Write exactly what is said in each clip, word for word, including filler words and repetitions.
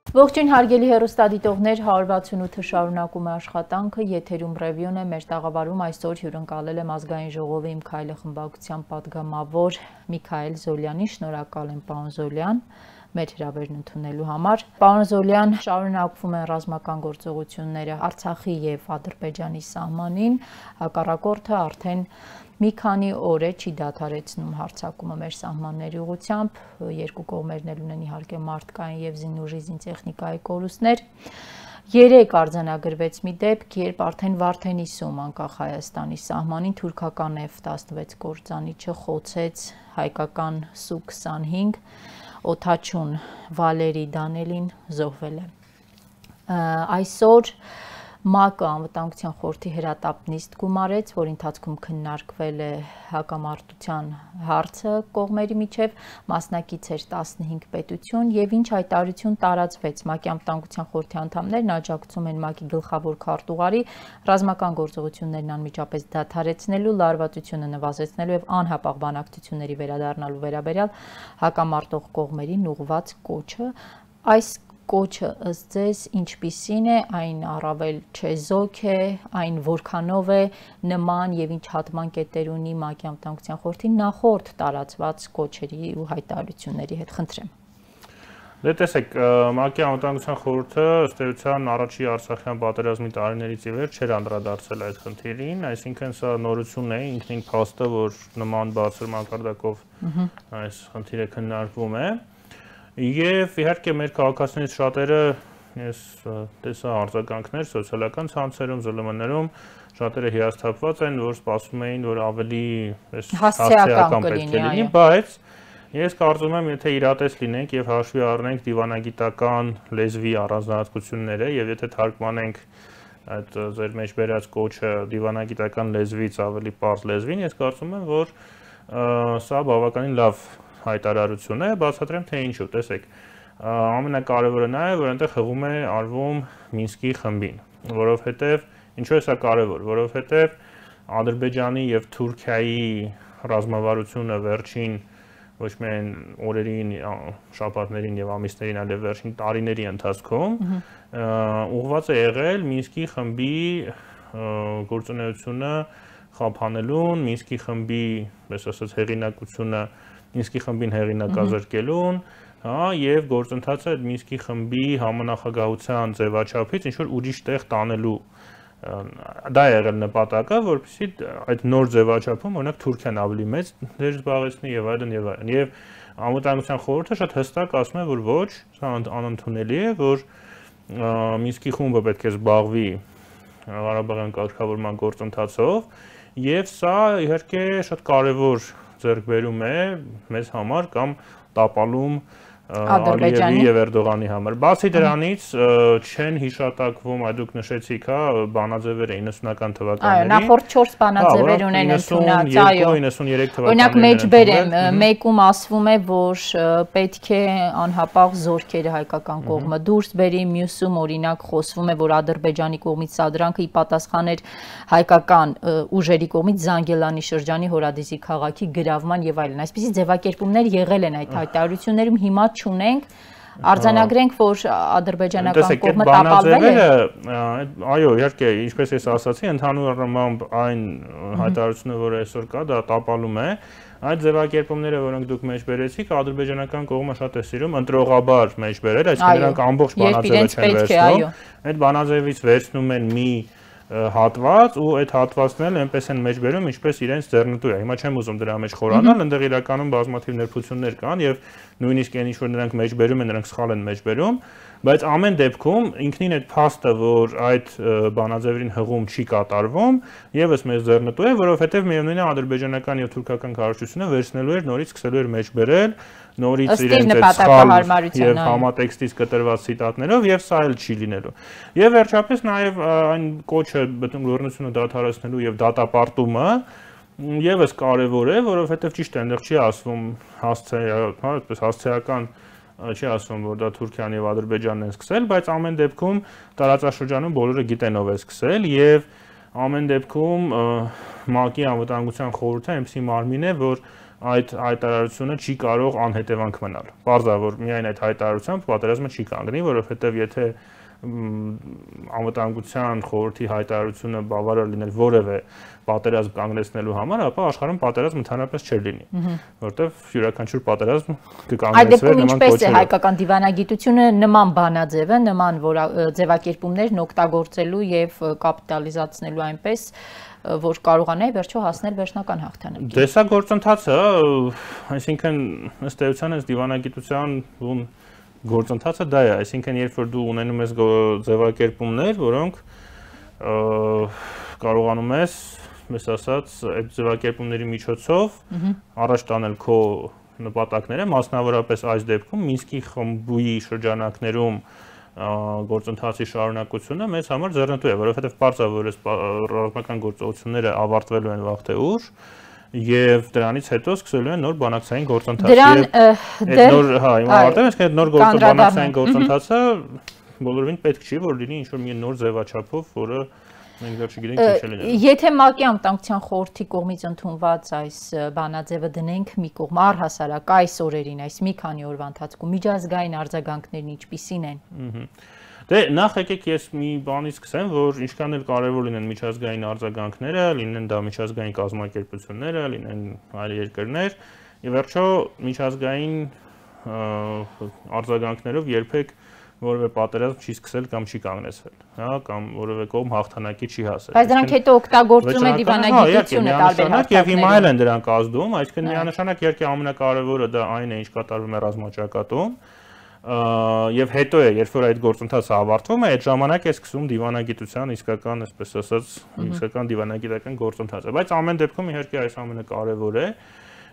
Ողջույն հարգելի հեռուստադիտողներ, հարյուր վաթսունութը շարունակում է աշխատանքը, եթերում ռևյուն է, մեր տաղավարում այսօր հյուրընկալել եմ ազգային ժողովի Իմ քայլը խմբակցության պատգամավոր Միքայել Զոլյանին, շնորհակալ եմ պարոն Զոլյան, մեր հրավերն ընդունելու համար։ Պարոն Զոլյան, շարունակվում են ռազմական գործողությունները Արցախի եւ Ադրբեջանի սահմանին, հակառակորդը արդեն մի քանի օր է չի դադարեցնում հարձակումը մեր սահմանների ուղղությամբ, երկու կողմերն էլ ունեն իհարկե մարդկային եւ զինուժի զինտեխնիկայի կորուստներ։ Երեք արձանագրվեց մի դեպք, երբ արդեն Վարդենիսում, անկախ Հայաստանի սահմանին, թուրքական F տասնվեց կործանիչը խոցեց հայկական Սու քսանհինգ, օդաչուն Վալերի Դանելին զոհվել է։ Այսօր ՄԱԿ-ը անվտանգության խորհրդի հրատապ նիստ գումարեց, որի ընթացքում քննարկվել է հակամարտության հարցը կողմերի միջև, մասնակից էր տասնհինգ պետություն եւ ինչ հայտարարություն տարածվեց ՄԱԿ-ի անվտանգության խորհրդի անդամներն աջակցում են ՄԱԿ-ի գլխավոր քարտուղարի ռազմական գործողություններն անմիջապես դադարեցնելու, լարվածությունը նվազեցնելու եւ անհապաղ բանակցությունների վերադառնալու վերաբերյալ հակամարտող կողմերին ուղղված կոչը։ Այս Կոչը ըստ ձեզ ինչպիսին է, այն առավել չեզոք է, այն որքանով է նման եւ ինչ հատման կետեր ունի ՄԱԿ-ի անվտանգության խորհրդի նախորդ տարածված կոչերի ու հայտարարությունների հետ, խնդրեմ։ Դե տեսեք, ՄԱԿ-ի անվտանգության խորհուրդը ըստ էության առաջի Արցախյան պատերազմի տարիներից ի վեր չէր անդրադարձել այդ խնդիրին, այսինքն սա նորություն է, ինքնին փաստը, որ նման բարձր մակարդակով այս խնդիրը քննարկվում է։ Եվ իհարկե մեր քաղաքացիներից շատերը, ես տեսա արձագանքներ սոցիալական ցանցերում, Զ Լ M-ներում, շատերը հիասթափված են, որ սպասում էին, որ ավելի հասցեական պետք է լինի, բայց ես կարծում եմ, եթե իրատես լինենք եւ հաշվի առնենք դիվանագիտական լեզվի առանձնահատկությունները եւ եթե թարգմանենք այդ ձեր մեջ բերած կոչը դիվանագիտական լեզվից ավելի պարզ լեզվին, ես կարծում եմ, որ սա բավականին լավ հայտարարություն է, բացատրեմ թե ինչու, տեսեք, ամենակարևորը նա է, որ այնտեղ հղում է արվում Մինսկի խմբին, որովհետև ինչու է սա կարևոր, որովհետև Ադրբեջանի եւ Թուրքիայի ռազմավարությունը վերջին ոչ միայն օրերին, շաբաթներին եւ ամիսներին, այլև վերջին տարիների ընթացքում ուղղված է եղել Մինսկի խմբի գործունեությունը խափանելուն, Մինսկի խմբի, պես ասած, հեղինակությունը Մինսկի խմբին հեղինակազրկելուն, եւ գործընթացը այդ Մինսկի խմբի համանախագահության ձևաչափից ինչ որ ուրիշ տեղ տանելու դա է եղել նպատակը, որպեսզի այդ նոր ձևաչափում օրինակ Թուրքիան ավելի մեծ դեր զբաղեցնի եւ այլն եւ այլն։ Եվ անվտանգության խորհուրդը շատ հստակ ասում է, որ ոչ, սա անընդունելի է, որ Մինսկի խումբը պետք է զբաղվի Ղարաբաղյան կարգավորման գործընթացով եւ սա իհարկե շատ կարեւոր ձեռքբերում է մեզ համար կամ տապալում Ալիևի եւ Էրդողանի համար։ Բացի դրանից չեն հիշատակվում, այ դուք նշեցիք, հա, բանաձևերը իննսունական թվականների։ Այո, նախորդ չորս բանաձևեր ունեն ընդունած, այո։ իննսուներեք թվականների։ Օրինակ մեջբերեմ, մեկում ասվում է, որ պետք է անհապաղ զորքերը հայկական կողմը դուրս բերի, մյուսում օրինակ խոսվում է, որ Ադրբեջանի կողմից սադրանքը ի պատասխան էր հայկական ուժերի կողմից Զանգելանի շրջանի Հորադիսի քաղաքի գրավման եւ այլն։ Այսպիսի ձևակերպումներ եղել են այդ հայտարարություններում, հիմա չունենք, արձանագրենք, որ ադրբեջանական կողմը տապալվել է։ Այո, իհարկե, ինչպես ես ասացի, ընդհանուր առմամբ այն հայտարարությունը, որ այսօր կա, դա տապալում է։ Այդ ձևակերպումները, որոնք դուք մեջ բերեցիք, ադրբեջանական կողմը շատ է սիրում ընտրողաբար մեջ բերել, այսինքն նրանք ամբողջ բանաձևը չեն վերցնում։ Այդ բանաձևից վերցնում են մի հատված ու այդ հատվածն էլ այնպես են մեջ բերում, ինչպես իրենց ձեռնտու է։ Հիմա չեմ ուզում դրա մեջ խորանալ, այնտեղ իրականում բազմաթիվ նրբություններ կան եւ նույնիսկ այն ինչ որ նրանք մեջ բերում են, նրանք սխալ են մեջ բերում, բայց ամեն դեպքում ինքնին այդ փաստը, որ այդ բանաձևերին հղում չի կատարվում, եւս մեզ ձեռնտու է, որովհետեւ միևնույնն է ադրբեջանական եւ թուրքական քարոզությունը վերցնելու էր, նորից սկսելու էր մեջ բերել, նորից իրենց այդ սխալ եւ համատեքստից կտրված ցիտատներով եւ սա էլ չի լինելու։ Եվ վերջապես նաեւ այն կոչը բռնությունը դադարեցնելու եւ դատապարտումը եւս կարեւոր է, որովհետեւ ճիշտ է, այնտեղ չի ասվում հասցե, հա, այդպես հասցեական չի ասվում, որ դա Թուրքիան եւ Ադրբեջանն են սկսել, բայց ամեն դեպքում տարածաշրջանում բոլորը գիտեն ով է սկսել եւ ամեն դեպքում ՄԱԿ-ի անվտանգության խորհուրդը այնպեսի մարմին է, որ այդ հայտարարությունը չի կարող անհետևանք մնալ։ Պարզ է, որ միայն այդ հայտարարությամբ պատերազմը չի կանգնի, որովհետև եթե անվտանգության խորհրդի հայտարարությունը բավարար լիներ որևէ պատերազմ կանգնեցնելու համար, ապա աշխարհում պատերազմ ընդհանրապես չէր լինի, որտեղ յուրաքանչյուր պատերազմ կկանգնեցվեր նման կոչերով։ Ինչպես է հայկական դիվանագիտությունը նման բանաձև է, նման ձևակերպումներն օգտագործելու եւ կապիտալիզացնելու այնպես, որ կարողանայի վերջո հասնել վերջնական հաղթանակի։ Դե սա գործընթացը, այսինքն ըստ էության այս դիվանագիտության գործընթացը դա է, այսինքն երբ որ դու ունենում ես ձևակերպումներ, որոնք կարողանում ես, ես ասած, այդ ձևակերպումների միջոցով առաջ տանել քո նպատակները, մասնավորապես այս դեպքում Մինսկի խմբի շրջանակներում գործընթացի շարունակությունը մեզ համար ձեռնտու է, որովհետև պարզ է, որ այս ռազմական գործողությունները ավարտվելու են վաղ թե ուշ եւ դրանից հետո սկսելու են նոր բանակցային գործընթաց։ Դրան նոր, հա, հիմա ավարտել ենք, այդ նոր բանակցային գործընթացը բոլորովին պետք չի, որ լինի ինչ-որ մի նոր ձևաչափով, որը մենք դեռ չգիտենք ինչ է լինելու։ Եթե ՄԱԿ-ի անվտանգության խորհրդի կողմից ընդունված այս բանաձևը դնենք մի կողմ, առհասարակ այս օրերին, այս մի քանի օրվա ընթացքում միջազգային արձագանքներն ինչպիսին են։ Դե նախ եկեք ես մի բանից սկսեմ, որ ինչքան էլ կարևոր լինեն միջազգային արձագանքները, լինեն դա միջազգային կազմակերպությունները, լինեն այլ երկրներ, ի վերջո միջազգային արձագանքներով երբեք որևէ պատերազմ չի սկսել կամ չի կանգնեցվել, հա, կամ որևէ կողմ հաղթանակի չի հասել։ Բայց դրանք հետո օգտագործում են դիվանագիտությունը տարբեր հաղթանակներում։ Եվ հիմա էլ են դրանք ազդում, այսինքն միանշանակ իհարկե ամենակարևորը դա այն է, ինչ կատարվում է ռազմաճակատում, եւ հետո է, երբ որ այդ գործընթացը ավարտվում է, այդ ժամանակ է սկսում դիվանագիտության իսկական, այսպես ասած, իսկական դիվանագիտական գործընթացը, բայց ամեն դեպքում իհարկե այս ամենակարևոր է։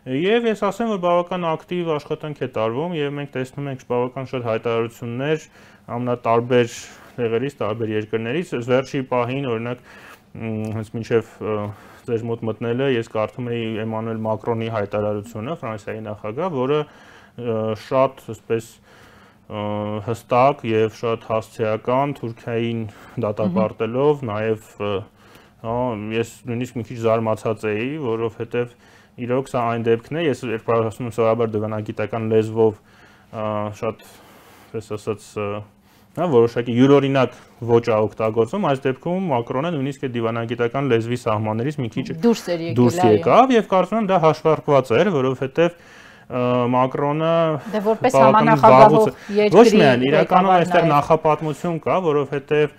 Եվ ես ասեմ, որ բավական ակտիվ աշխատանք է տարվում եւ մենք տեսնում ենք բավական շատ հայտարարություններ ամենատարբեր տեղերից, տարբեր երկրներից։ Վերջի պահին, օրինակ, հենց մինչեւ ձեր մոտ մտնելը ես կարդում էի Էմանուել Մակրոնի հայտարարությունը, Ֆրանսիայի նախագահ, որը շատ, այսպես, հստակ եւ շատ հասցեական Թուրքիային դատապարտելով, նաեւ ես նույնիսկ մի քիչ զարմացած էի, որովհետեւ իրոք սա այն դեպքն է, ես երբ ասում եմ սովորաբար դիվանագիտական լեզվով շատ, պես ասած, հա, որոշակի յուրօրինակ ոճ է օգտագործում, այս դեպքում Մակրոնը նույնիսկ է դիվանագիտական լեզվի սահմաններից մի քիչ դուրս եկավ եւ կարծում եմ դա հաշվարկված էր, որովհետեւ Մակրոնը դե որպես համանախագահող երկրի ոչ միայն իրականում այստեղ նախապատմություն կա, որովհետեւ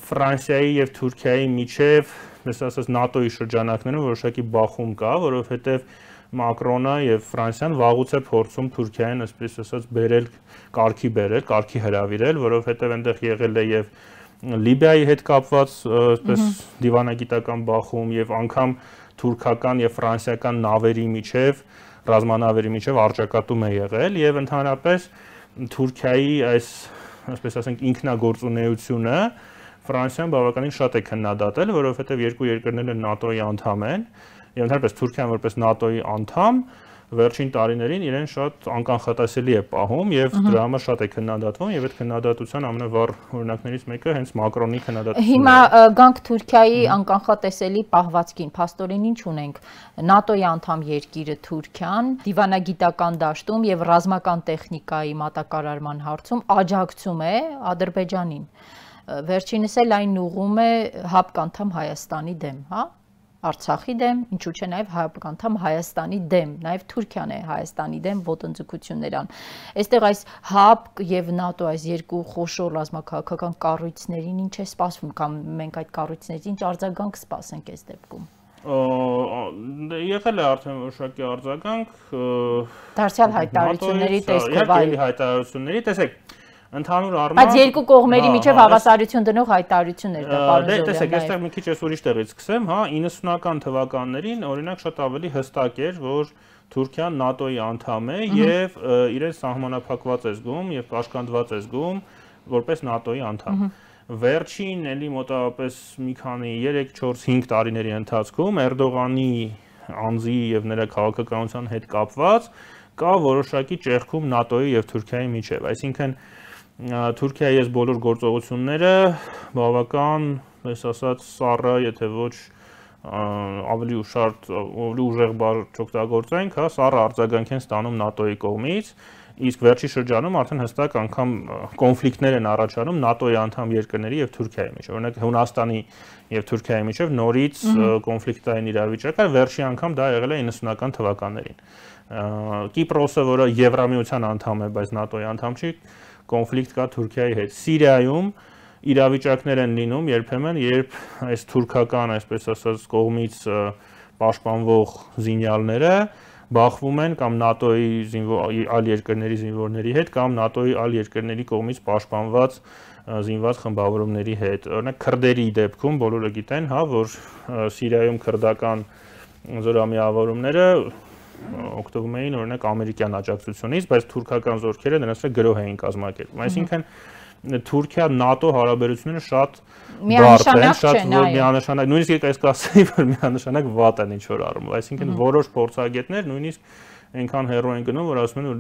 Ֆրանսիայի եւ Թուրքիայի միջև, ես ասած, ՆԱՏՕ-ի շրջանակներում որոշակի բախում կա, որովհետեւ Մակրոնը եւ Ֆրանսիան վաղուց է փորձում Թուրքիային, այսպես ասած, բերել, կարգի բերել, կարգի հրավիրել, որովհետեւ այնտեղ եղել է եւ Լիբիայի հետ կապված, այսպես դիվանագիտական բախում եւ անգամ թուրքական եւ ֆրանսիական նավերի միջև, ռազմանավերի միջև արճակատում է եղել եւ ընդհանրապես Թուրքիայի այս, այսպես ասենք, ինքնագործունեությունը Ֆրանսիան բավականին շատ է քննադատել, որովհետեւ երկու երկրներն ՆԱՏՕ-ի անդամ են եւ ընդհանրապես Թուրքիան որպես ՆԱՏՕ-ի անդամ վերջին տարիներին իրեն շատ անկանխատեսելի է պահում եւ դրա համար շատ է քննադատվում եւ այդ քննադատության ամենավառ օրինակներից մեկը հենց Մակրոնի քննադատությունն է։ Հիմա գանք Թուրքիայի անկանխատեսելի պահվածքին, փաստորեն ինչ ունենք, ՆԱՏՕ-ի անդամ երկիրը Թուրքիան դիվանագիտական դաշտում եւ ռազմական տեխնիկայի մատակարարման հարցում աջակցում է Ադրբեջանին։ Վերջինս էլ այն ուղղում է հապկանդամ Հայաստանի դեմ, հա? Արցախի դեմ, ինչու՞ չէ նաև հապկանդամ Հայաստանի դեմ, նաև Թուրքիան է Հայաստանի դեմ ոտնձգություններ ան։ Այստեղ այս ՀԱՊԿ եւ ՆԱՏՕ այս երկու խոշոր ռազմաքաղաքական կառույցներին ինչ է սպասվում, կամ մենք այդ կառույցներից ինչ արձագանք սպասենք այս դեպքում։ Եղել է արդեն որոշակի արձագանք դարձյալ հայտարարությունների տեսքով, այլ հայտարարությունների, տեսեք, ընդհանուր առմամբ բայց երկու կողմերի միջև հավասարություն դնող հայտարարություններ դա պարոն Զորյան։ Դե տեսեք, այստեղ մի քիչ ես ուրիշ տեղից սկսեմ, հա, իննսունական թվականներին օրինակ շատ ավելի հստակ էր, որ Թուրքիան ՆԱՏՕ-ի անդամ է եւ իրեն սահմանափակված է զգում եւ կաշկանդված է զգում որպես ՆԱՏՕ-ի անդամ։ Վերջին էլի մոտավորապես մի քանի երեք չորս հինգ տարիների ընթացքում Էրդողանի անձի եւ նրա քաղաքականության հետ կապված կա որոշակի ճեղքում ՆԱՏՕ-ի եւ Թուրքիայի միջև, այսինքն Թուրքիայի այս բոլոր գործողությունները բավական, ես ասած, սառը, եթե ոչ ավելի ուշարդ, ավելի ուժեղ բառ չօգտագործենք, հա, սառը արձագանք են ստանում ՆԱՏՕ-ի կողմից, իսկ վերջի շրջանում արդեն հստակ անգամ կոնֆլիկտներ են առաջանում ՆԱՏՕ-ի անդամ երկրների եւ Թուրքիայի միջեւ։ Օրինակ Հունաստանի եւ Թուրքիայի միջեւ նորից կոնֆլիկտային իրավիճակ է, վերջի անգամ դա եղել է իննսունական թվականներին։ Կիպրոսը, որը Եվրամիության անդամ է, բայց ՆԱՏՕ-ի անդամ չի, կոնֆլիկտ կա Թուրքիայի հետ։ Սիրիայում իրավիճակներ են լինում երբեմն, երբ այս թուրքական, այսպես ասած, կողմից պաշտպանվող զինյալները բախվում են կամ ՆԱՏՕ-ի այլ երկրների զինվորների հետ կամ ՆԱՏՕ-ի այլ երկրների կողմից պաշտպանված զինված խմբավորումների հետ։ Օրինակ քրդերի դեպքում բոլորը գիտեն, հա, որ Սիրիայում քրդական զորամիավորումները օգտվում էին օրինակ ամերիկյան աջակցությունից, բայց թուրքական զորքերը նրանց հետ գրոհ էին կազմակերպում։ Այսինքն Թուրքիա-ՆԱՏՕ հարաբերությունները շատ բարդ են, շատ միանշանակ, նույնիսկ ես կասեի, որ միանշանակ վատ են ինչ-որ առումով, այսինքն որոշ փորձագետներ նույնիսկ այնքան հեռու են գնում, որ ասում են, որ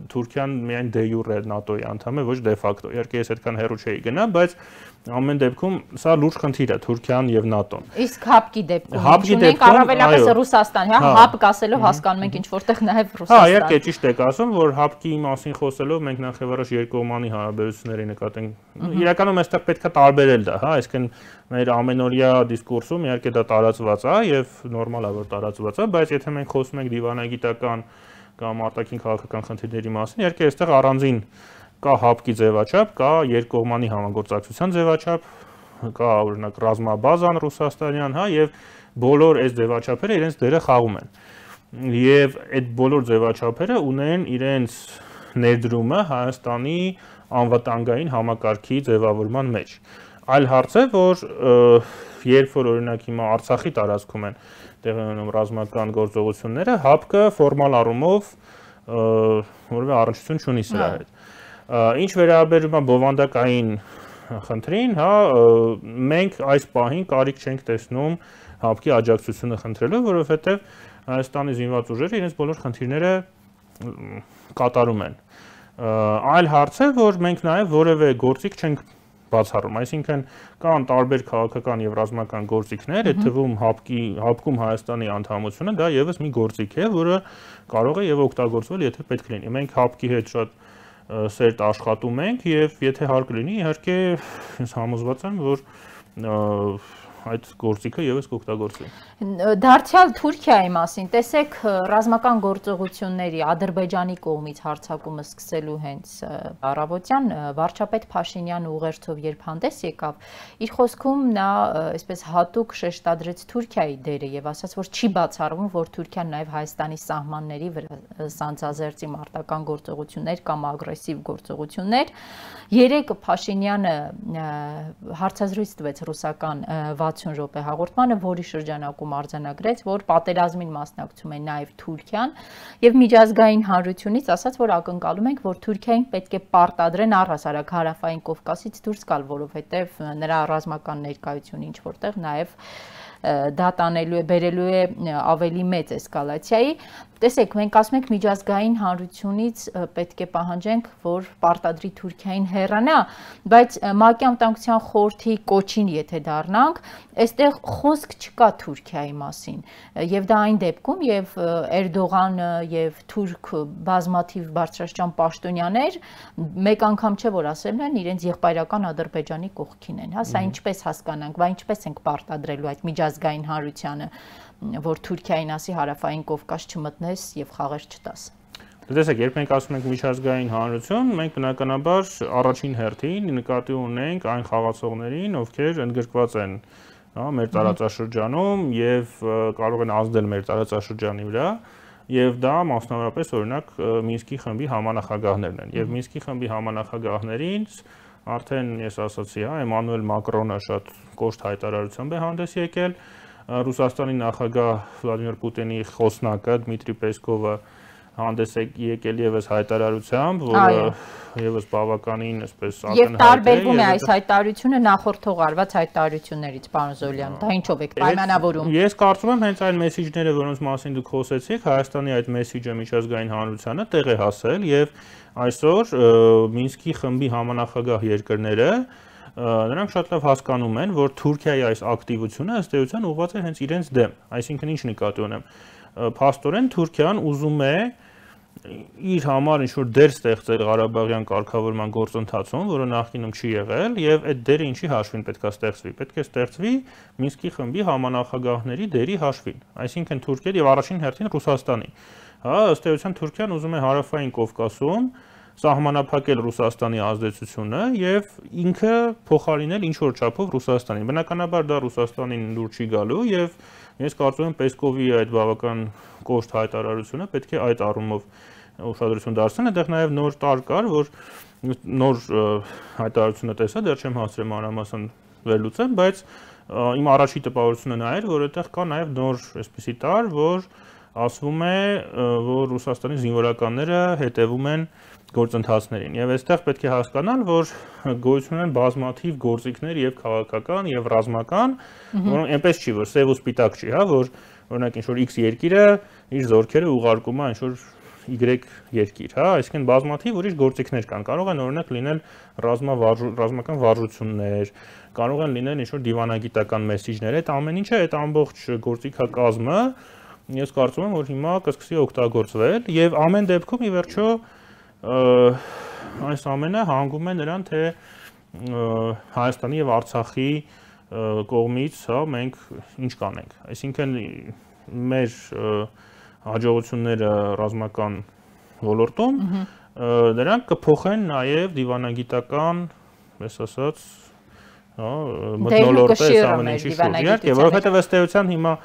Թուրքիան միայն դե յուրե ՆԱՏՕ-ի անդամ է, ոչ դե ֆակտո։ Իհարկե ես այդքան հեռու չէի գնա, բայց ամեն դեպքում սա լուրջ խնդիր է Թուրքիան եւ ՆԱՏՕ-ն։ Իսկ հապկի դեպքում ունենք առավելապես Ռուսաստան, հա, հապկ ասելով հասկանում ենք ինչ որտեղ նաեւ Ռուսաստան։ Հա, իհարկե ճիշտ եք ասում, որ հապկի մասին խոսելով մենք նախ եւ առաջ երկկողմանի հարաբերությունների նկատենք։ Իրականում այստեղ պետք է տարբերել դա, հա, այսինքն մեր ամենօրյա դիսկուրսում իհարկե դա տարածված է եւ նորմալ է որ տարածված է, բայց եթե մենք խոսում ենք դիվանագիտական կամ արտաքին քաղաքական խնդիրների մասին, իհարկե այստեղ առանձին կա հապկի ձևաչափ, կա երկկողմանի համագործակցության ձևաչափ, կա օրինակ ռազմաբազան ռուսաստանյան, հա, եւ բոլոր այս ձևաչափերը իրենց դերը խաղում են։ Եվ այդ բոլոր ձևաչափերը ունեն իրենց ներդրումը Հայաստանի անվտանգային համակարգի ձևավորման մեջ։ Այլ հարց է, որ երբ որ օրինակ հիմա Արցախի տարածքում են տեղի ունենում ռազմական գործողությունները, հապկը ֆորմալ առումով որևէ առնչություն չունի սրա հետ։ Ինչ վերաբերում է բովանդակային խնդրին, հա, մենք այս պահին կարիք չենք տեսնում հապկի աջակցությունը խնդրելու, որովհետև Հայաստանի զինված ուժերը իրենց բոլոր խնդիրները կատարում են։ Այլ հարց է, որ մենք նաև որևէ գործիք չենք բացառում, այսինքն կան տարբեր քաղաքական եւ ռազմական գործիքներ, այդ թվում հապկի հապկում Հայաստանի անդամությունը դա եւս մի գործիք է, որը կարող է եւ օգտագործվել, եթե պետք լինի։ Մենք հապկի հետ շատ սերտ աշխատում ենք եւ եթե հարկ լինի, իհարկե ես համոզված եմ, որ այդ գործիքը եւս կօգտագործվի։ Դարձյալ Թուրքիայի մասին, տեսեք, ռազմական գործողությունների Ադրբեջանի կողմից հարձակումը սկսելու հենց առավոտյան վարչապետ Փաշինյանը ուղերձով երբ հանդես եկավ, իր խոսքում նա այսպես հատուկ շեշտադրեց Թուրքիայի դերը եւ ասաց, որ չի բացառվում, որ Թուրքիան նաեւ Հայաստանի սահմանների վրա սանձազերծի մարտական գործողություններ կամ ագրեսիվ գործողություններ։ Երեկ Փաշինյանը հարցազրույց տվեց ռուսական վաթսուն րոպե հաղորդմանը, որի շրջանակում արձանագրեց, որ պատերազմին մասնակցում է նաև Թուրքիան եւ միջազգային հանրությունից ասաց, որ ակնկալում ենք, որ Թուրքիային պետք է պարտադրեն առհասարակ հարավային Կովկասից դուրս գալ, որովհետեւ նրա ռազմական ներկայությունը ինչ որտեղ նաև դա տանելու է, բերելու է ավելի մեծ էսկալացիայի։ Տեսեք, մենք ասում ենք միջազգային հանրությունից պետք է պահանջենք, որ պարտադրի Թուրքիային հեռանա, բայց ՄԱԿ-ի անվտանգության խորհրդի կոչին եթե դառնանք, այստեղ խոսք չկա Թուրքիայի մասին։ Եվ դա այն դեպքում, եւ Էրդողանը եւ թուրք բազմաթիվ բարձրաստիճան պաշտոնյաներ մեկ անգամ չէ որ ասել են իրենց եղբայրական Ադրբեջանի կողքին են, հա, սա ինչպես հասկանանք, բա ինչպես ենք պարտադրելու այդ միջազգային հանրությանը, որ Թուրքիային ասի հարավային Կովկաս չմտնես եւ խաղեր չտաս։ Տեսեք, երբ մենք ասում ենք միջազգային հանրություն, մենք բնականաբար առաջին հերթին նկատի ունենք այն խաղացողներին, ովքեր ընդգրկված են, հա, մեր տարածաշրջանում եւ կարող են ազդել մեր տարածաշրջանի վրա, եւ դա մասնավորապես օրինակ Մինսկի խմբի համանախագահներն են։ Եվ Մինսկի խմբի համանախագահներին արդեն ես ասացի, հա, Էմանուել Մակրոնը շատ կոշտ հայտարարությամբ է հանդես եկել, Ռուսաստանի նախագահ Վլադիմիր Պուտինի խոսնակը Դմիտրի Պեսկովը հանդես եկել եւս հայտարարությամբ, որը եւս բավականին այսպես ակնհայտ է։ Եվ տարբերվում է այս հայտարարությունը նախորդող արված հայտարարություններից, պարոն Զոլյան, դա ինչով եք պայմանավորում։ Ես կարծում եմ հենց այն մեսիջները, որոնց մասին դուք խոսեցիք, Հայաստանի այդ մեսիջը միջազգային հանրությանը տեղ է հասել եւ այսօր Մինսկի խմբի համանախագահ երկրները նրանք շատ լավ հասկանում են, որ Թուրքիայի այս ակտիվությունը ըստ էության ուղղված է հենց իրենց դեմ, այսինքն ինչ նկատի ունեմ, փաստորեն Թուրքիան ուզում է իր համար ինչ-որ դեր ստեղծել Ղարաբաղյան կարգավորման գործընթացում, որը նախկինում չի եղել, եւ այդ դերը ինչի հաշվին պետք է ստեղծվի։ Պետք է ստեղծվի Մինսկի խմբի համանախագահների դերի հաշվին, այսինքն Թուրքիայի եւ առաջին հերթին Ռուսաստանի։ Հա, ըստ էության Թուրքիան ուզում է Հարավային Կովկասում սահմանափակել Ռուսաստանի ազդեցությունը եւ ինքը փոխարինել ինչ-որ չափով Ռուսաստանին։ Բնականաբար դա Ռուսաստանին լուր չի գալու եւ ես կարծում եմ Պեսկովի այդ բավական կոշտ հայտարարությունը պետք է այդ առումով ուշադրություն դարձնել, այդտեղ նաև նոր տար կար, որ նոր հայտարարությունը տեսա, դեռ չեմ հասցրել մանրամասն վերլուծեմ, բայց իմ առաջի տպավորությունը նա էր, որ այդտեղ կա նաև նոր այսպիսի տար, որ ասվում է, որ Ռուսաստանի զինվորականները հետևում են գործընթացներին եւ այստեղ պետք է հասկանալ, որ գոյություն ունեն բազմաթիվ գործիքներ եւ քաղաքական եւ ռազմական, որոնք այնպես չի, որ սև ու սպիտակ չի, հա, որ օրինակ ինչ-որ X երկիրը իր զորքերը ուղարկում է ինչ-որ Y երկիր, հա, այսինքն բազմաթիվ ուրիշ գործիքներ կան, կարող են օրինակ լինել ռազմական վարժություններ, կարող են լինել ինչ-որ դիվանագիտական մեսիջներ, այդ ամեն ինչը, այդ ամբողջ գործիքակազմը ես կարծում եմ, որ հիմա կսկսի օգտագործվել եւ ամեն դեպքում ի վերջո այս ամենը հանգում է նրան, թե Հայաստանի եւ Արցախի կողմից, հա, մենք ինչ կանենք, այսինքն մեր հաջողությունները ռազմական ոլորտում նրանք կփոխեն նաև դիվանագիտական, ես ասած, հա, մթնոլորտը այս ամեն ինչի շուրջ, իհարկե, որովհետև ըստ էության հիմա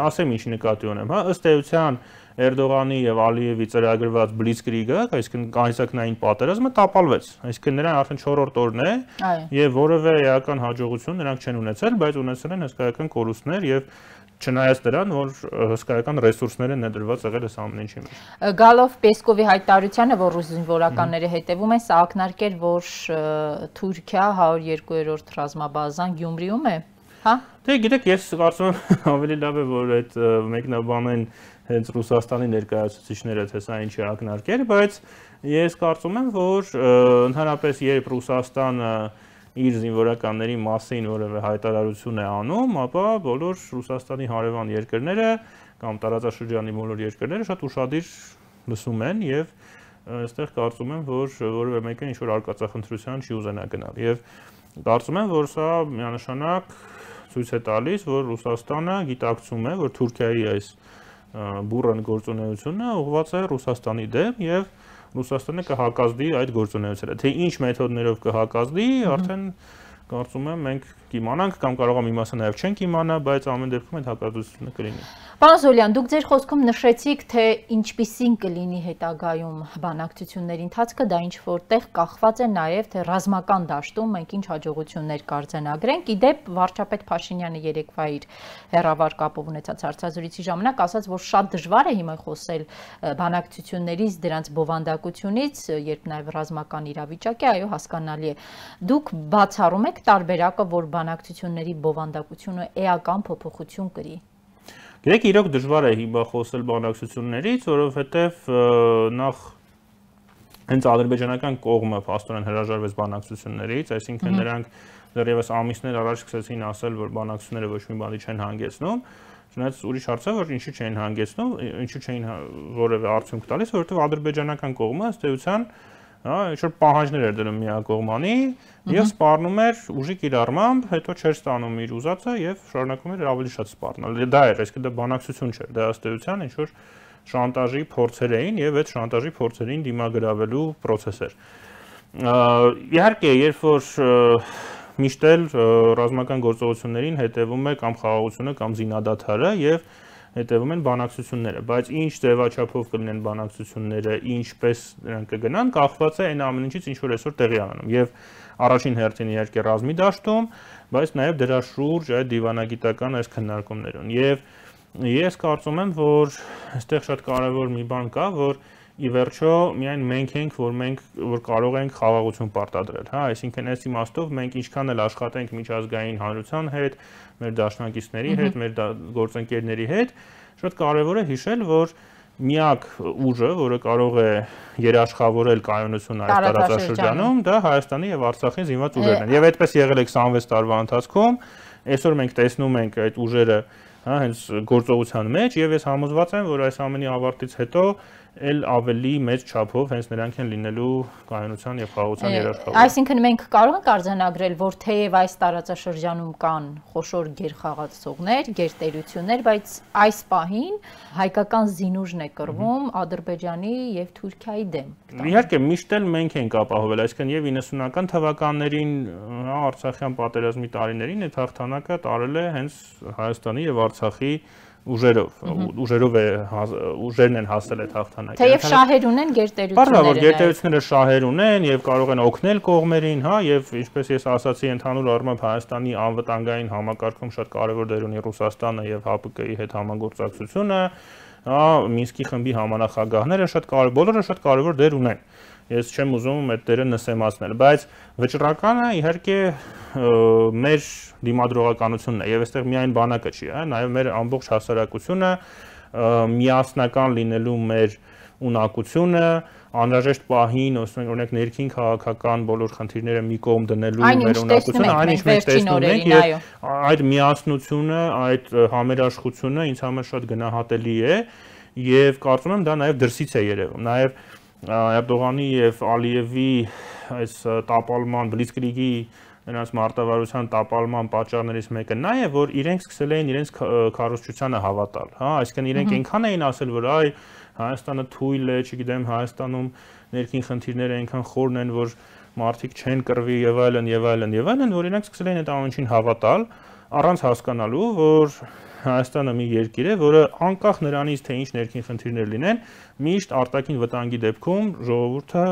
ասեմ ինչ նկատի ունեմ, հա, ըստ էության Էրդողանի եւ Ալիևի ծրագրված Բլիցկրիգը, այսինքն կայսակնային պատերազմը տապալվեց, այսինքն նրան արդեն չորրորդ օրն է եւ որևէ էական հաջողություն նրանք չեն ունեցել, բայց ունեցել են հսկայական կորուստներ եւ չնայած դրան, որ հսկայական ռեսուրսներ են ներդրված եղել այս ամեն ինչի մեջ։ Գալով Պեսկովի հայտարարությանը, որ ռուս զինվորականները հետևում են, սա ակնարկել, որ Թուրքիա հարյուր երկու-րդ ռազմաբազան Գյումրիում է, հա։ Դե գիտեք, ես կարծում եմ ավելի լավ է, որ այդ մեկնաբանեն հենց Ռուսաստանի ներկայացուցիչները, թե սա ինչ է ակնարկել, բայց ես կարծում եմ, որ ընդհանրապես երբ Ռուսաստանը իր զինվորականների մասին որևէ հայտարարություն է անում, ապա բոլոր Ռուսաստանի հարևան երկրները կամ տարածաշրջանի բոլոր երկրները շատ ուշադիր լսում են եւ այստեղ կարծում եմ, որ որևէ մեկը ինչ-որ արկածախնդրության չի ուզենա գնալ եւ կարծում եմ, որ սա միանշանակ ցույց է տալիս, որ Ռուսաստանը գիտակցում է, որ Թուրքիայի այս բուրըն գործունեությունը ուղղված է Ռուսաստանի դեմ եւ Ռուսաստանը կհակազդի այդ գործունեությանը։ Թե ինչ մեթոդներով կհակազդի, արդեն կարծում եմ մենք կիմանանք կամ կարող եմ իմասը նաև չենք իմանա, բայց ամեն դեպքում այդ հակազդությունը կլինի։ Պարոն Զոլյան, դուք ձեր խոսքում նշեցիք, թե ինչպիսին կլինի հետագայում բանակցությունների ընթացքը, դա ինչ որտեղ կախված է նաև, թե ռազմական դաշտում մենք ինչ հաջողություններ կարձանագրենք։ Իդեպ վարչապետ Փաշինյանը երեկվա իր հեռավար կապով ունեցած հարցազրույցի ժամանակ ասաց, որ շատ դժվար է հիմա խոսել բանակցություններից, դրանց բովանդակությունից, երբ նաև ռազմական իրավիճակ է, այո, հասկանալի է։ Դուք բացառում եք տարբերակը, որ բանակցությունների բովանդակությունը էական փոփոխություն կրի։ Գիտեք, իրոք դժվար է հիմա խոսել բանակցություններից, որովհետև նախ հենց ադրբեջանական կողմը փաստորեն հրաժարվեց բանակցություններից, այսինքն նրանք դեռևս ամիսներ առաջ սկսեցին ասել, որ բանակցությունները ոչ մի բանի չեն հանգեցնում, չնայած ուրիշ հարց է, որ ինչու չեն հանգեցնում, ինչու չէին որևէ արդյունք տալիս, որովհետև ադրբեջանական կողմը ըստ էության հա, ինչ-որ պահանջներ էր դնում միակողմանի եւ սպառնում էր ուժի կիրառմամբ, հետո չէր ստանում իր ուզածը եւ շարունակում էր ավելի շատ սպառնալ։ Դա էր, այսինքն դա բանակցություն չէր, դա ըստ էության ինչ-որ շանտաժի փորձեր էին եւ այդ շանտաժի փորձերին դիմագրավելու process էր։ Իհարկե, երբ որ միշտ էլ ռազմական գործողություններին հետևում է կամ խաղաղությունը կամ զինադադարը եւ հետևում են բանակցությունները, բայց ինչ ձևաչափով կլինեն բանակցությունները, ինչպես նրանք կգնան, կախված է այն ամեն ինչից, ինչ որ այսօր տեղի ունենում։ Եվ առաջին հերթին իհարկե ռազմի դաշտում, բայց նաև դրա շուրջ այդ դիվանագիտական այս քննարկումներուն։ Եվ ես կարծում եմ, որ այստեղ շատ կարևոր մի բան կա, որ ի վերջո միայն մենք ենք, որ մենք որ կարող ենք խաղաղություն պարտադրել, հա, այսինքն այս իմաստով մենք ինչքան էլ աշխատենք միջազգային հանրության հետ, մեր դաշնակիցների հետ, մեր գործընկերների հետ, շատ կարևոր է հիշել, որ միակ ուժը, որը կարող է երաշխավորել կայունությունը այս տարածաշրջանում, դա Հայաստանի եւ Արցախի զինված ուժերն են։ Եվ այդպես եղել է քսանվեց տարվա ընթացքում, այսօր մենք տեսնում ենք այդ ուժերը հա հենց գործողության մեջ եւ ես համոզված եմ, որ այս ամենի ավարտից հետո էլ ավելի մեծ չափով հենց նրանք են լինելու կայունության եւ խաղաղության երաշխավորը։ Այսինքն մենք կարող ենք արձանագրել, որ թեև այս տարածաշրջանում կան խոշոր գերխաղացողներ, գերտերություններ, բայց այս պահին հայկական զինուժն է կռվում Ադրբեջանի եւ Թուրքիայի դեմ։ Իհարկե, միշտ էլ մենք ենք ապահովել, այսինքն եւ իննսունական թվականներին, հա, Արցախյան պատերազմի տարիներին այդ հաղթանակը տարել է հենց Հայաստանի եւ Արցախի ուժերով, ուժերով է ուժերն են հասել այդ հաղթանակին։ Թեև շահեր ունեն գերտերությունները։ Բարձր որ գերտերությունները շահեր ունեն եւ կարող են օգնել կողմերին, հա, եւ ինչպես ես ասացի, ընդհանուր առմամբ Հայաստանի անվտանգային համակարգում շատ կարեւոր դեր ունի Ռուսաստանը եւ Հ Պ Կ-ի հետ համագործակցությունը, հա, Մինսկի խմբի համանախագահները շատ կարեւոր, բոլորը շատ կարեւոր դեր ունեն։ Ես չեմ ուզում այդ դերը նսեմացնել, բայց վճռականը իհարկե մեր դիմադրողականությունն է եւ այստեղ միայն բանակը չի, հա, նաեւ մեր ամբողջ հասարակությունը միասնական լինելու մեր ունակությունը, անհրաժեշտ պահին, օրինակ ներքին քաղաքական բոլոր խնդիրները մի կողմ դնելու մեր ունակությունը, այնինչ մենք տեսնում ենք եւ այդ միասնությունը, այդ համերաշխությունը ինձ համար շատ գնահատելի է եւ կարծում եմ դա նաեւ դրսից է երևում, նաեւ Էրդողանի եւ Ալիևի այս տապալման բլիցկրիգի նրանց մարտավարության տապալման պատճառներից մեկը նա է, որ իրենք սկսել էին իրենց քարոզչությանը հավատալ, հա, այսինքն իրենք այնքան էին ասել, որ այ Հայաստանը թույլ է, չգիտեմ, Հայաստանում ներքին խնդիրները այնքան խորն են, որ մարդիկ չեն կռվի եւ այլն եւ այլն եւ այլն, որ իրենք սկսել էին այդ ամենին հավատալ, առանց հասկանալու, որ Հայաստանը մի երկիր է, որը անկախ նրանից, թե ինչ ներքին խնդիրներ լինեն, միշտ արտաքին վտանգի դեպքում ժողովուրդը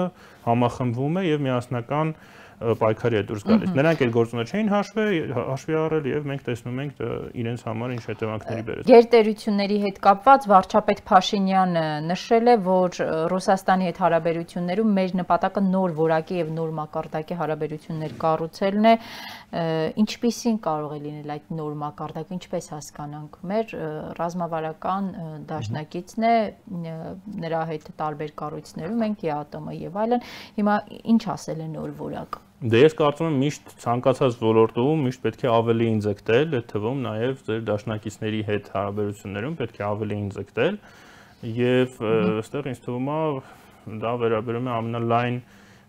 համախմբվում է եւ միասնական պայքարի է դուրս գալիս։ Նրանք այդ գործոնը չէին հաշվի առել եւ մենք տեսնում ենք իրենց համար ինչ հետևանքների բերեց։ Գերտերությունների հետ կապված վարչապետ Փաշինյանը նշել է, որ Ռուսաստանի հետ հարաբերություններում մեր նպատակը նոր որակի եւ նոր մակարդակի հարաբերություններ կառուցելն է։ Ինչպիսին կարող է լինել այդ նոր մակարդակը, ինչպես հասկանանք։ Մեր ռազմավարական դաշնակիցն է, նրա հետ տարբեր կառույցներում ենք, Է Ա ՏՄ եւ այլն։ Հիմա ինչ ասել է նոր որակ։ Դե ես կարծում եմ միշտ ցանկացած ոլորտում միշտ պետք է ավելի ինձգտել, այդ թվում նաև ձեր դաշնակիցների հետ հարաբերություններում պետք է ավելի ինձգտել եւ այստեղ ինձ թվում է դա վերաբերում է ամենալայն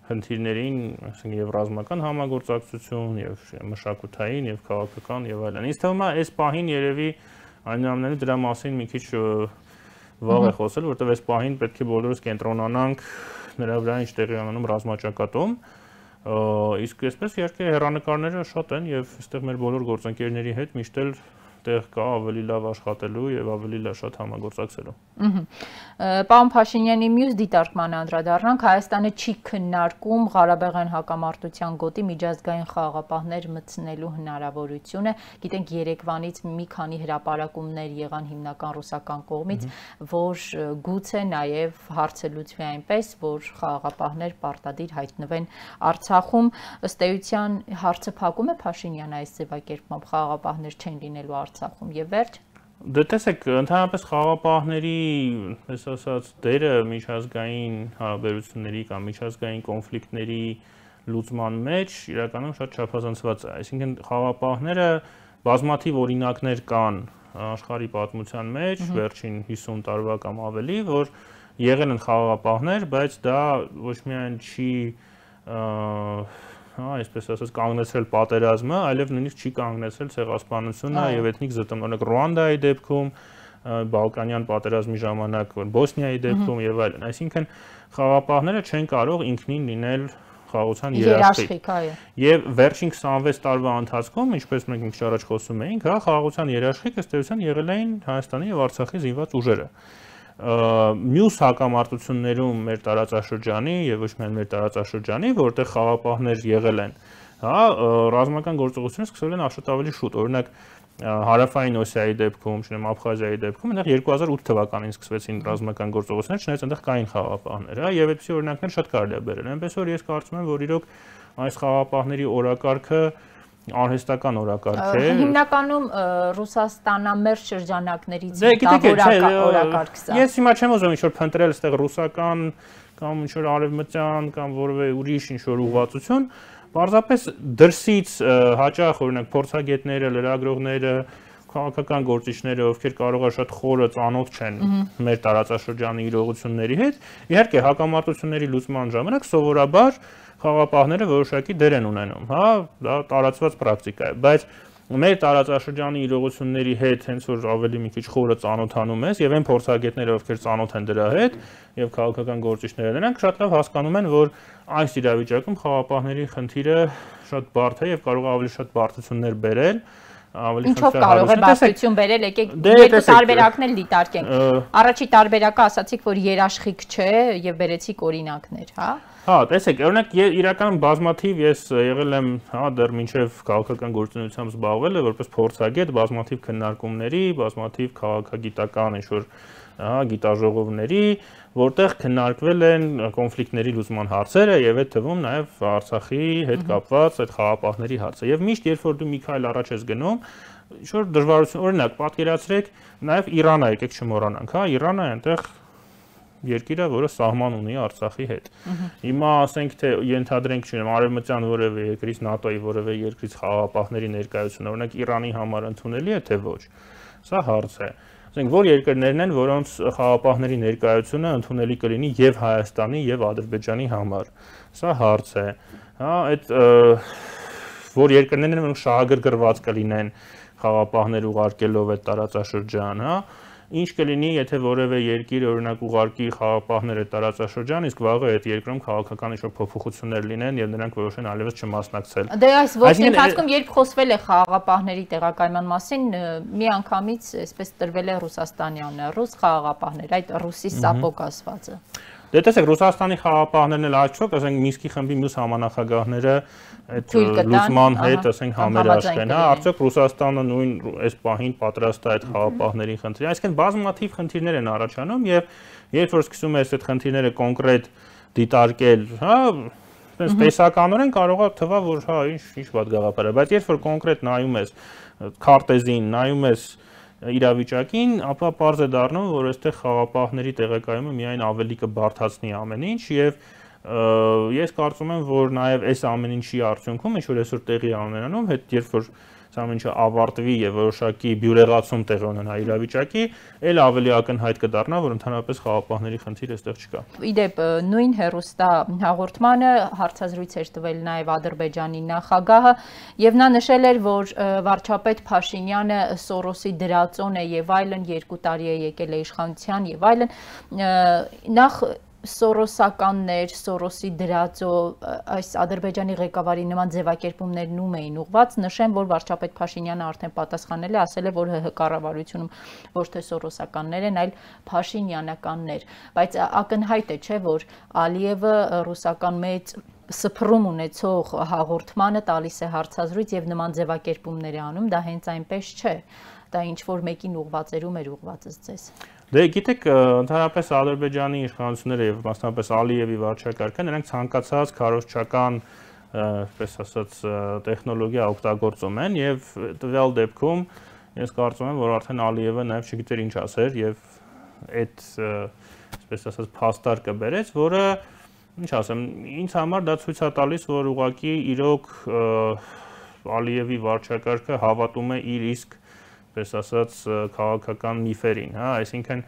խնդիրներին, այսինքն եւ ռազմական համագործակցություն, եւ մշակութային, եւ քաղաքական եւ այլն։ Ինձ թվում է այս պահին երևի այնուամենայնիվ դրա մասին մի քիչ վաղ է խոսել, որովհետեւ այս պահին պետք է բոլորս կենտրոնանանք նրա վրա ինչ տեղի ունենում ռազմաճակատում։ Իսկ այսպես իհարկե հեռանկարները շատ են եւ այստեղ մեր բոլոր գործընկերների հետ միշտ էլ տեղ կա ավելի լավ աշխատելու եւ ավելի լավ շատ համագործակցելու։ Պարոն Փաշինյանի մյուս դիտարկմանը անդրադառնանք, Հայաստանը չի քննարկում Ղարաբաղյան հակամարտության գոտի միջազգային խաղաղապահներ մտցնելու հնարավորությունը։ Գիտենք երեկվանից մի քանի հրապարակումներ եղան հիմնական ռուսական կողմից, որ գուցե նաեւ հարցը լուծվի այնպես, որ խաղաղապահներ պարտադիր հայտնվեն Արցախում։ Ըստ էության հարցը փակում է Փաշինյանը այս ձևակերպմամբ, խաղաղապահներ չեն լինելու Արցախում եւ վերջ։ Դե տեսեք, ընդհանրապես խաղաղապահների, այսպես ասած, դերը միջազգային հարաբերությունների կամ միջազգային կոնֆլիկտների լուծման մեջ իրականում շատ չափազանցված է։ Այսինքն խաղաղապահները բազմաթիվ օրինակներ կան աշխարհի պատմության մեջ, վերջին հիսուն տարվա կամ ավելի, որ եղել են խաղաղապահներ, բայց դա ոչ միայն չի հա, այսպես ասած կանգնեցրել պատերազմը, այլև նույնիսկ չի կանգնեցրել ցեղասպանությունը եւ էթնիկ զտում, օրինակ Ռուանդայի դեպքում, Բալկանյան պատերազմի ժամանակ, Բոսնիայի դեպքում եւ այլն։ Այսինքն խաղաղապահները չեն կարող ինքնին լինել խաղաղության երաշխիք։ Եվ վերջին քսանվեց տարվա ընթացքում, ինչպես մենք ինչ առաջ խոսում էինք, հա, խաղաղության երաշխիք ըստ էության եղել էին Հայաստանի եւ Արցախի զինված ուժերը։ Մյուս հակամարտություններում մեր տարածաշրջանի եւ ոչ միայն մեր տարածաշրջանի, որտեղ խաղաղապահներ եղել են, հա, ռազմական գործողությունները սկսվել են շատ ավելի շուտ։ Օրինակ Հարավային Օսիայի դեպքում, չնայած Աբխազիայի դեպքում, այնտեղ երկու հազար ութ թվականին սկսվեցին ռազմական գործողություններ, չնայած այնտեղ կային խաղաղապահներ, հա, եւ այդպիսի օրինակներ շատ կարելի է բերել։ Այնպես որ ես կարծում եմ, որ իրոք այս խաղաղապահների օրակարգը արհեստական օրակարգ է։ Հիմնականում Ռուսաստանամերձ շրջանակներից օրակարգ սա։ Ես հիմա չեմ ուզում ինչ-որ փնտրել այստեղ ռուսական կամ ինչ-որ արևմտյան կամ որևէ ուրիշ ինչ-որ ուղղվածություն, պարզապես դրսից հաճախ օրինակ փորձագետները, լրագրողները, քաղաքական գործիչները, ովքեր կարող է շատ խորը ծանոթ չեն մեր տարածաշրջանի իրողությունների հետ, իհարկե հակամարտությունների լուծման ժամանակ սովորաբար խաղապահները որոշակի դեր են ունենում, հա, դա տարածված պրակտիկա է, բայց մեր տարածաշրջանի իրողությունների հետ հենց որ ավելի մի քիչ խորը ծանոթանում ես եւ այն փորձագետները, ովքեր ծանոթ են դրա հետ եւ քաղաքական գործիչները, նրանք շատ լավ հասկանում են, որ այս իրավիճակում խաղապահների խնդիրը շատ բարդ է եւ կարող է ավելի շատ բարդություններ բերել։ Ինչով կարող է բարդություն բերել, եկեք երկու տարբերակներ դիտարկենք։ Առաջի տարբերակը ասացիք, որ երաշխիք չէ եւ բերեցիք օրինակներ, հա։ Հա, տեսեք, օրինակ իրականում բազմաթիվ ես եղել եմ, հա, դեռ մինչև քաղաքական գործունեությամբ զբաղվել եմ որպես փորձագետ, բազմաթիվ քննարկումների, բազմաթիվ քաղաքագիտական ինչ-որ, հա, գիտաժողովների, որտեղ քննարկվել են կոնֆլիկտների լուծման հարցերը եւ այդ թվում նաեւ Արցախի հետ կապված այդ խաղապահների հարցը։ Եվ միշտ երբ որ դու մի քայլ առաջ ես գնում, ինչ-որ դժվարություն, օրինակ, պատկերացրեք նաեւ Իրանը, եկեք չմոռանանք, հա, Իրանը այնտեղ երկիրը, որը սահման ունի Արցախի հետ։ Հիմա ասենք թե ենթադրենք, չունեմ, արևմտյան որևէ երկրից, ՆԱՏՕ-ի որևէ երկրից խաղապահների ներկայությունը, օրինակ Իրանի համար ընդունելի է թե ոչ։ Սա հարց է։ Ասենք որ երկրներն են, որոնց խաղապահների ներկայությունը ընդունելի կլինի եւ Հայաստանի եւ Ադրբեջանի համար։ Սա հարց է։ Հա, այդ որ երկրներն են, որոնք շահագրգռված կլինեն խաղապահներ ուղարկելով այդ տարածաշրջան, հա։ Ինչ կլինի, եթե որևէ երկիր օրինակ ուղարկի խաղապահներ այդ տարածաշրջան, իսկ վաղը այդ երկրում քաղաքական ինչ-որ փոփոխություններ լինեն եւ նրանք որոշեն այլևս չմասնակցել։ Դե այս ողջ ընթացքում երբ խոսվել է խաղապահների տեղակայման մասին, միանգամից այսպես տրվել է Ռուսաստանյանը, ռուս խաղապահներ, այդ ռուսի սապոկ ասվածը։ Դե տեսեք, Ռուսաստանի խաղապահներն էլ աչքով, ասենք Մինսկի խմբի մյուս համանախագահները այդ լուծման հետ, ասենք համերաշխ են, հա, արդյոք Ռուսաստանը նույն այս պահին պատրաստ է այդ խաղապահների խնդրին, այսինքն բազմաթիվ խնդիրներ են առաջանում եւ երբ որ սկսում ես այդ խնդիրները կոնկրետ դիտարկել, հա, այնպես տեսականորեն կարող է թվա, որ հա, ինչ ինչ վատ գաղափար է, բայց երբ որ կոնկրետ նայում ես քարտեզին, նայում ես իրավիճակին, ապա պարզ է դառնում, որ այստեղ խաղապահների տեղեկայումը միայն ավելի կբարդացնի ամեն ինչ եւ ես կարծում եմ, որ նաեւ այս ամեն ինչի արդյունքում ինչ որ այսօր տեղի ունենանում, հետ երբ որ սա ամեն ինչը ավարտվի եւ որոշակի բյուրեղացում տեղի ունենա իրավիճակի, ել ավելի ակնհայտ կդառնա, որ ընդհանրապես խաղապահների խնդիր այստեղ չկա։ Իդեպ նույն հերոստա հաղորդմանը հարցազրույց էր տվել նաեւ Ադրբեջանի նախագահը եւ նա նշել էր, որ վարչապետ Փաշինյանը Սորոսի դրածոն է եւ այլն, երկու տարի է եկել է իշխանության եւ այլն, նախ Սորոսականներ, Սորոսի դրածո, այս Ադրբեջանի ղեկավարի նման ձևակերպումներն ում էին ուղված, նշեմ, որ վարչապետ Փաշինյանը արդեն պատասխանել է, ասել է, որ ՀՀ կառավարությունում ոչ թե սորոսականներ են, այլ փաշինյանականներ, բայց ակնհայտ է, չէ, որ Ալիևը ռուսական մեծ սփռում ունեցող հաղորդմանը տալիս է հարցազրույց եւ նման ձևակերպումներ է անում, դա հենց այնպես չէ, դա ինչ որ մեկին ուղղվածերում էր ուղղվածս ձեզ։ Դե գիտեք, ընդհանրապես Ադրբեջանի իշխանությունները եւ մասնավորապես Ալիևի վարչակարգը նրանք ցանկացած քարոզչական, այսպես ասած, տեխնոլոգիա օգտագործում են եւ տվյալ դեպքում ես կարծում եմ, որ արդեն Ալիևը նաեւ չգիտեր ինչ ասեր եւ այդ, այսպես ասած, փաստարկը բերեց, որը ինչ ասեմ, ինձ համար դա ցույց է տալիս, որ ուղղակի իրոք Ալիևի վարչակարգը հավատում է իր իսկ պես ասած քաղաքական միֆերին, հա, այսինքն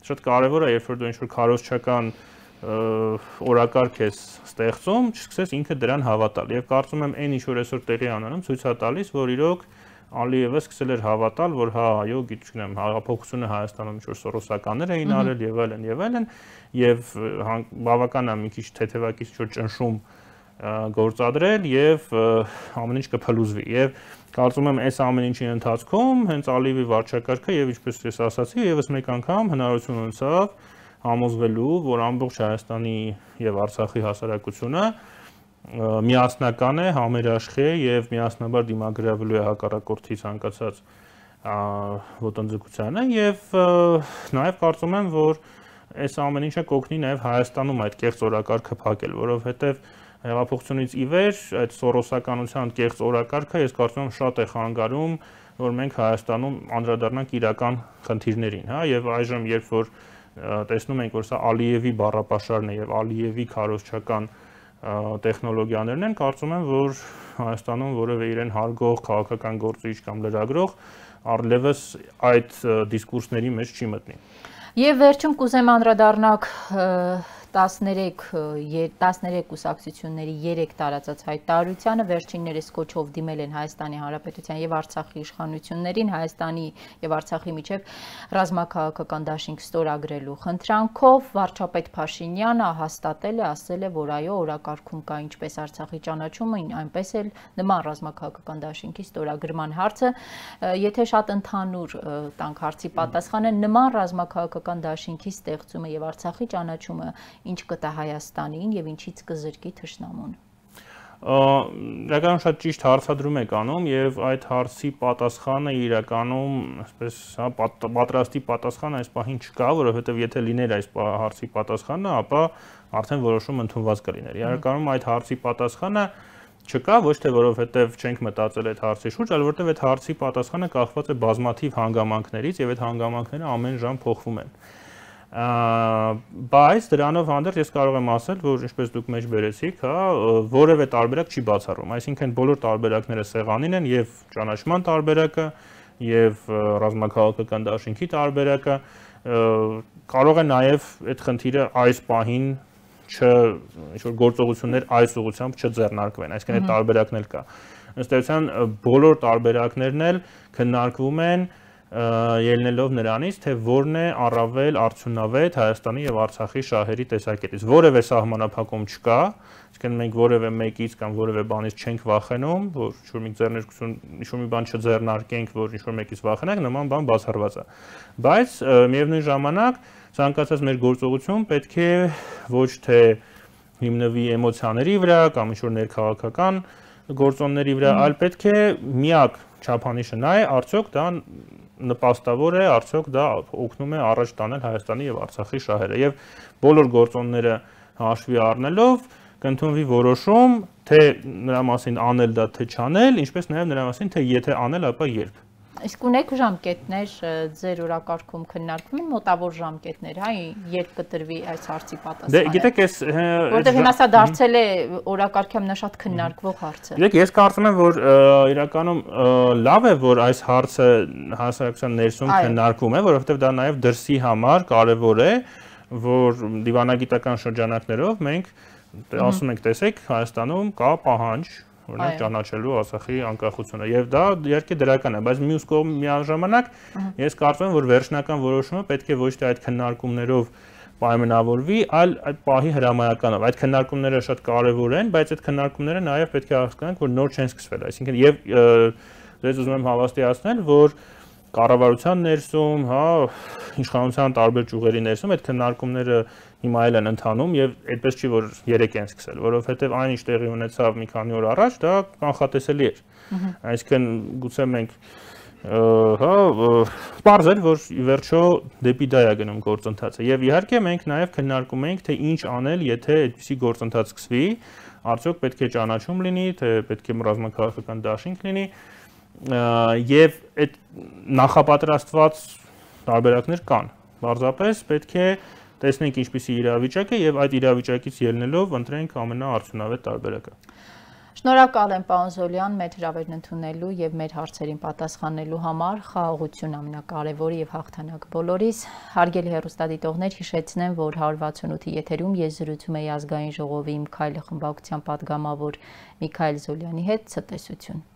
շատ կարևոր է, երբ որ դու ինչ-որ քարոզչական օրակարգ ես ստեղծում, չսկսես ինքը դրան հավատալ։ Եվ կարծում եմ այն ինչ որ այսօր տեղի ունենում, ցույց է տալիս, որ իրոք Ալիևը սկսել էր հավատալ, որ հա, այո, գիտեմ, հեղափոխությունը Հայաստանում ինչ որ սորոսականներ էին արել եւ այլն եւ այլն, եւ բավական է մի քիչ թեթևակից ինչ որ ճնշում գործադրել եւ ամեն ինչ կփլուզվի եւ կարծում եմ այս ամեն ինչի ընթացքում հենց Ալիևի վարչակարգը եւ ինչպես ես ասացի եւս մեկ անգամ հնարավորություն ունեցավ համոզվելու, որ ամբողջ Հայաստանի եւ Արցախի հասարակությունը միասնական է, համերաշխ է եւ միասնաբար դիմագրավելու է հակառակորդի ցանկացած ոտնձգությանը եւ նաեւ կարծում եմ, որ այս ամեն ինչը կօգնի նաեւ Հայաստանում այդ կեղծ օրակարգը փակել, որովհետեւ Հեղափոխությունից ի վեր այդ սորոսականության կեղծ օրակարգը ես կարծում եմ շատ է խանգարում, որ մենք Հայաստանում անդրադառնանք իրական խնդիրներին, հա, եւ այժմ երբ որ տեսնում ենք, որ սա Ալիևի բառապաշարն է եւ Ալիևի քարոզչական տեխնոլոգիաներն են, կարծում եմ, որ Հայաստանում որևէ իրեն հարգող քաղաքական գործիչ կամ լրագրող առլևս այդ դիսկուրսների մեջ չի մտնի։ Եվ վերջում կուզեմ անդրադառնալ տասներեք կուսակցությունների երեք տարածած հայտարարությանը, վերջիններս կոչով դիմել են Հայաստանի Հանրապետության եւ Արցախի իշխանություններին Հայաստանի եւ Արցախի միջև ռազմաքաղաքական դաշինք ստորագրելու խնդրանքով, վարչապետ Փաշինյանը հաստատել է, ասել է, որ այո, օրակարգում կա ինչպես Արցախի ճանաչումը, այնպես էլ նման ռազմաքաղաքական դաշինքի ստորագրման հարցը, եթե շատ ընդհանուր տանք հարցի պատասխանը, նման ռազմաքաղաքական դաշինքի ստեղծումը եւ Արցախի ճանաչումը ինչ կտա Հայաստանին եւ ինչից կզրկի թշնամուն։ Իրականում շատ ճիշտ հարցադրում եք անում եւ այդ հարցի պատասխանը իրականում, այսպես, հա, պատրաստի պատասխանը այս պահին չկա, որովհետեւ եթե լիներ այս հարցի պատասխանը, ապա արդեն որոշում ընդունված կլիներ։ Իրականում այդ հարցի պատասխանը չկա, ոչ թե որովհետեւ չենք մտածել այդ հարցի շուրջ, այլ որովհետեւ այդ հարցի պատասխանը կախված է բազմաթիվ հանգամանքներից եւ այդ հանգամանքները ամեն ժամ փոխվում են։ Բայց դրանով հանդերձ ես կարող եմ ասել, որ ինչպես դուք մեջ բերեցիք, հա, որևէ տարբերակ չի բացառում, այսինքն բոլոր տարբերակները սեղանին են եւ ճանաչման տարբերակը եւ ռազմաքաղաքական դաշինքի տարբերակը, կարող է նաեւ այդ խնդիրը այս պահին չ ինչ որ գործողություններ այս ուղղությամբ չձեռնարկվեն, այսինքն այդ տարբերակն էլ կա։ Ըստ էության բոլոր տարբերակներն էլ քննարկվում են ելնելով նրանից, թե որն է առավել արդյունավետ Հայաստանի եւ Արցախի շահերի տեսակետից։ Որևէ սահմանափակում չկա, այսինքն մենք որևէ մեկից կամ որևէ բանից չենք վախենում, որ ինչ-որ մի ձեռնարկություն, ինչ-որ մի բան չձեռնարկենք, որ ինչ-որ մեկից վախենանք, նման բան բացառված է։ Բայց միևնույն ժամանակ ցանկացած մեր գործողություն պետք է ոչ թե հիմնվի էմոցիաների վրա կամ ինչ-որ ներքաղաքական գործոնների վրա, այլ պետք է միակ չափանիշը նա է, արդյոք դա նպաստավոր է, արդյոք դա օգնում է առաջ տանել Հայաստանի եւ Արցախի շահերը եւ բոլոր գործոնները հաշվի առնելով կընդունվի որոշում, թե նրա մասին անել դա թե չանել, ինչպես նաեւ նրա մասին թե եթե անել, ապա երբ։ Իսկ ունեք ժամկետներ ձեր օրակարգում քննարկվում են մոտավոր ժամկետներ, հա, երբ կտրվի այս հարցի պատասխանը։ Դե գիտեք, ես որտեղ հիմա սա դարձել է օրակարգի ամենաշատ քննարկվող հարցը։ Գիտեք, ես կարծում եմ, որ իրականում լավ է, որ այս հարցը հասարակության ներսում քննարկվում է, որովհետև դա նաև դրսի համար կարևոր է, որ դիվանագիտական շրջանակներով մենք ասում ենք, տեսեք, Հայաստանում կա պահանջ օրինակ ճանաչելու Արցախի անկախությունը եւ դա իհարկե դրական է, բայց մյուս կողմ միաժամանակ ես կարծում եմ, որ վերջնական որոշումը պետք է ոչ թե այդ քննարկումներով պայմանավորվի, այլ այդ պահի հրամայականով։ Այդ քննարկումները շատ կարեւոր են, բայց այդ քննարկումները նաեւ պետք է հասկանանք, որ նոր չեն սկսվել, այսինքն եւ դες ուզում եմ հավաստիացնել, որ կառավարության ներսում, հա, իշխանության տարբեր ճյուղերի ներսում այդ քննարկումները հիմա էլ են ընթանում եւ այդպես չի որ երեք են սկսել, որովհետեւ այն ինչ տեղի ունեցավ մի քանի օր առաջ, դա կանխատեսելի էր։ Այսինքն գուցե մենք հա բարձր որ ի վերջո դեպի դա է գնում գործընթացը եւ իհարկե մենք նաեւ քննարկում ենք թե ինչ անել, եթե այդպիսի գործընթաց սկսվի, արդյոք պետք է ճանաչում լինի, թե պետք է ռազմաքաղաքական դաշինք լինի եւ այդ նախապատրաստված տարբերակներ կան։ Բարձրապես պետք է տեսնենք ինչպիսի իրավիճակ է եւ այդ իրավիճակից ելնելով ընտրենք ամենաարդյունավետ տարբերակը։ Շնորհակալ եմ պարոն Զոլյան մեր հրավերն ընդունելու եւ մեր հարցերին պատասխանելու համար, խաղաղություն ամենակարևորը եւ հաղթանակ բոլորիս։ Հարգելի հեռուստադիտողներ, հիշեցնեմ, որ հարյուր վաթսունութի եթերում ես զրուցում եի ազգային ժողովի Իմ քայլը խմբակցության պատգամավոր Միքայել Զոլյանի հետ։ Ցտեսություն։